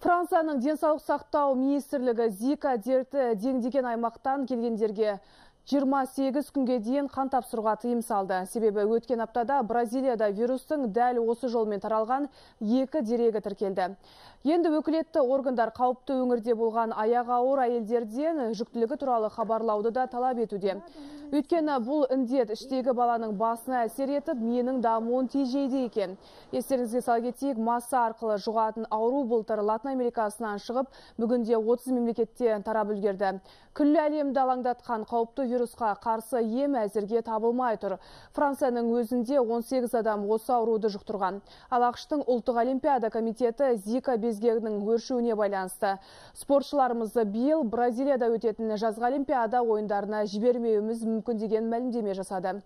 Францияның денсаулық сақтау министрлігі Зика дерті дендеген аймақтан келгендерге 28 күнге дейін қан тапсыруға тыйым салды. Себебі өткен аптада Бразилияда вирустың дәл осы жолмен таралған 2 дерегі тіркелді. Енді өкілетті органдар қауіпті өңірде болған аяғы ауыр әйелдерден жүктілігі туралы хабарлауды да талап етуде. Өйткені бұл індет іштегі баланың басына әсер етіп, менің дамуын тежейді екен. Естеріңізге сала кетейік, масса арқылы жұғатын ауру былтыр Латын Америкасынан шығып, бүгінде 30 мемлекетте тарап үлгерді. Күллі әлемді алаңдатқан қауіпті вирусқа қарсы ем әзірге табылмай тұр. Францияның өзінде 18 адам осы ауруды жұқтырған. Ал ақш-тың ұлттық олимпиада комитеті Зика безгегінің өршуіне байланысты спортшыларымызды биыл Бразилияда өтетін жазғы олимпиада ойындарына жібермеуіміз мүмкін деген мәлімдеме жасады.